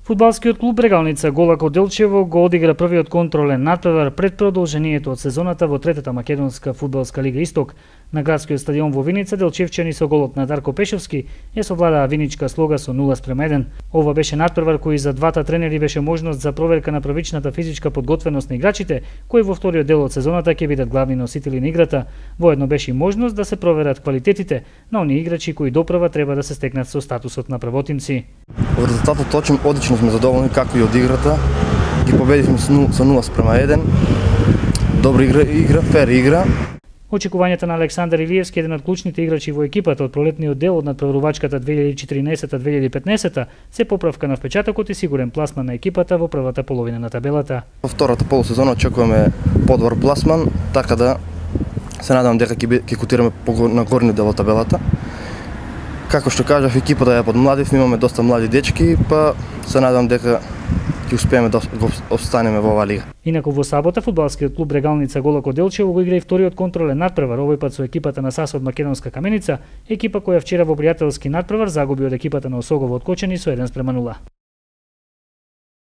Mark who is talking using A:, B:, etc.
A: Фудбалскиот клуб Брегалница Голако Делчево го одигра првиот контролен натпревар пред продолжението од сезоната во третата македонска фудбалска лига Исток. На градскиот стадион во Виница делчевчани со голот на Дарко Пешевски ја совладаа виничка слога со 0:1. Ова беше натпревар кој за двата тренери беше можност за проверка на првичната физичка подготвеност на играчите, кои во вториот дел од сезоната ќе бидат главни носители на играта. Воедно беше и можност да се проверат квалитетите на оние играчи кои допрва треба да се стекнат со статусот на првотимци.
B: Од резултатот одлично сме задоволни, како и од играта. Ги победивме со 0:1. Добра игра, фер игра.
A: Очекувањата на Александар Илиевски, еден од клучните играчи во екипата од пролетниот дел од надпреварувачката 2014-2015, се поправка на впечатокот и сигурен пласман на екипата во првата половина на табелата.
B: Во втората полусезона очекуваме подобар пласман, така да се надам дека ќе котираме на горниот дел од табелата. Како што кажав, екипата е под младив, имаме доста млади дечки, па се надам дека ќе успееме да останеме во оваа лига.
A: Инаку во сабота фудбалскиот клуб Брегалница Голако Делчево го игра и вториот контролен натпревар, овој пат со екипата на САС од Македонска Каменица, екипа која вчера во пријателски натпревар загуби од екипата на Осогово од Кочани со 1:0.